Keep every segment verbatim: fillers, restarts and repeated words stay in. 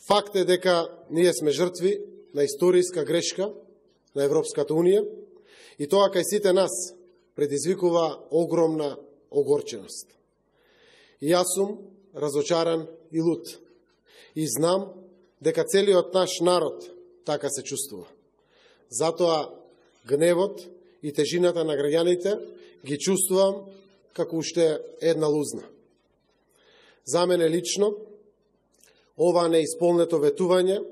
Факт е дека ние сме жртви на историска грешка на Европската Унија и тоа кај сите нас предизвикува огромна огорченост. И јас сум разочаран и лут. И знам дека целиот наш народ така се чувствува. Затоа гневот и тежината на граѓаните ги чувствувам како уште една лузна. За мене лично, ова неисполнето ветување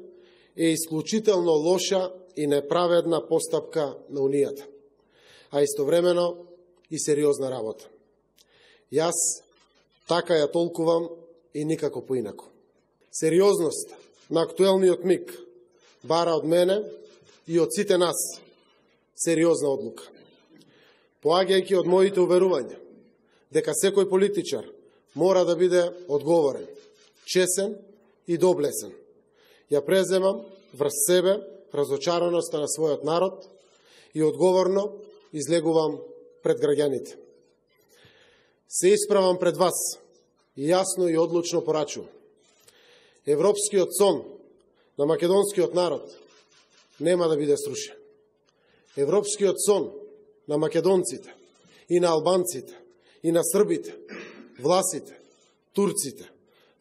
е исклучително лоша и неправедна постапка на Унијата, а истовремено и сериозна работа. Јас така ја толкувам и никако поинако. Сериозност на актуелниот миг бара од мене и од сите нас сериозна одлука. Поаѓајќи од моите уверувања дека секој политичар мора да биде одговорен, чесен и доблесен, ја преземам врз себе разочараноста на својот народ и одговорно излегувам пред граѓаните. Се исправам пред вас и јасно и одлучно порачувам. Европскиот сон на македонскиот народ нема да биде срушен. Европскиот сон на македонците и на албанците и на србите, власите, турците,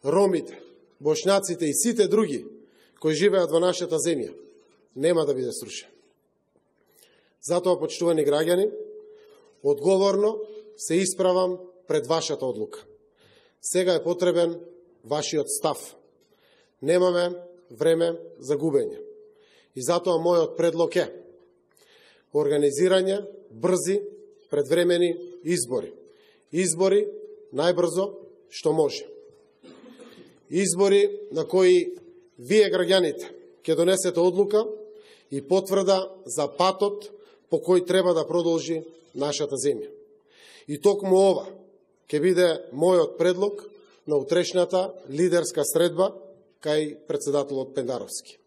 ромите, бошњаците и сите други кои живеат во нашата земја нема да биде срушен. Затоа, почитувани граѓани, одговорно се исправам пред вашата одлука. Сега е потребен вашиот став. Немаме време за губење. И затоа мојот предлог е организирање брзи предвремени избори. Избори најбрзо што може. Избори на кои вие, граѓаните, ќе донесете одлука и потврда за патот по кој треба да продолжи нашата земја. И токму ова ќе биде мојот предлог на утрешната лидерска средба кај председателот Пендаровски.